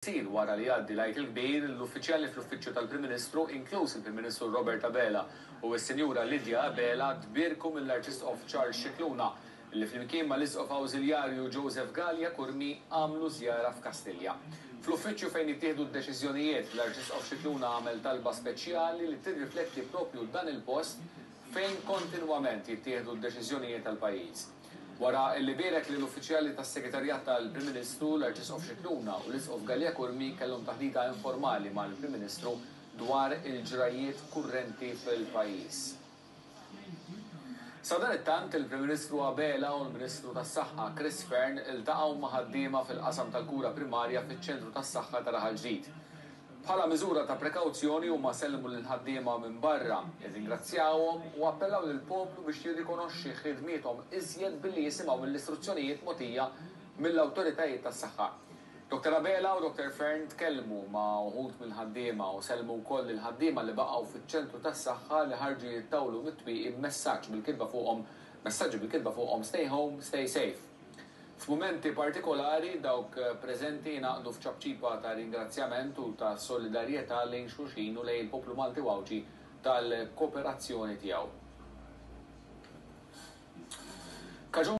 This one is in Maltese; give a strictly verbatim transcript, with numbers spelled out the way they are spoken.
Jsir wara li jgħaddi l-Għid il-Kbir, l-uffiċjali fl-Uffiċċju tal-Prim Ministru, inkluż il-Prim Ministru Robert Abela u s-Sinjura Lydia Abela, tbierku mill-Arċisqof Charles Scicluna li flimkien mal-Isqof Awżiljarju Joseph Galea Curmi għamlu żjara f'Kastilja. Fl-uffiċċju fejn jittieħdu d-deċiżjonijiet, l-Arċisqof Scicluna għamel talba speċjali li tirrifletti propju dan il-post fejn kontinwament jittieħdu d-deċiżjonijiet tal-pajjiż. Wara li bierek lill-uffiċjali tas-Segretarjat tal-Prim Ministru, l-Arċisqof Scicluna u l-Isqof Galea Curmi kellhom taħdita informali mal-Prim Ministru dwar il-ġrajiet kurrenti fil-pajjiż. Sadanittant, il-Prim Ministru Abela u l-Ministru tas-Saħħa Chris Fearne iltaqgħu ma' ħaddiema fil-qasam tal-kura primarja fiċ-ċentru tas-saħħa ta' Raħal Ġdid. Bħala miżura ta' prekawzjoni huma sellmu lill-ħaddiema minn barra, irringrazzjawhom u appellaw lill-poplu biex jirrikonoxxi ħidmiethom iżjed billi jisimgħu mill-istruzzjonijiet mogħtija mill-awtoritajiet tas-saħħa. Doktor Abela u Doktor Fearne tkellmu ma' uħud mill-ħaddiema u sellmu wkoll lill-ħaddiema li baqgħu fiċ-ċentru tas-saħħa li ħarġu jittawlu mit-twieqi b'messaġġ bil-kitba fuqhom, messaġġi bil-kitba fuqhom "Stay Home, Stay Safe". F'mumenti partikolari dawk preżenti jingħaqdu f'ċapċipa ta' ringrazzjament u ta' solidarjetà lejn xulxin u lejn il-poplu Malti u Għawdxi tal-kooperazzjoni tiegħu. Kaġun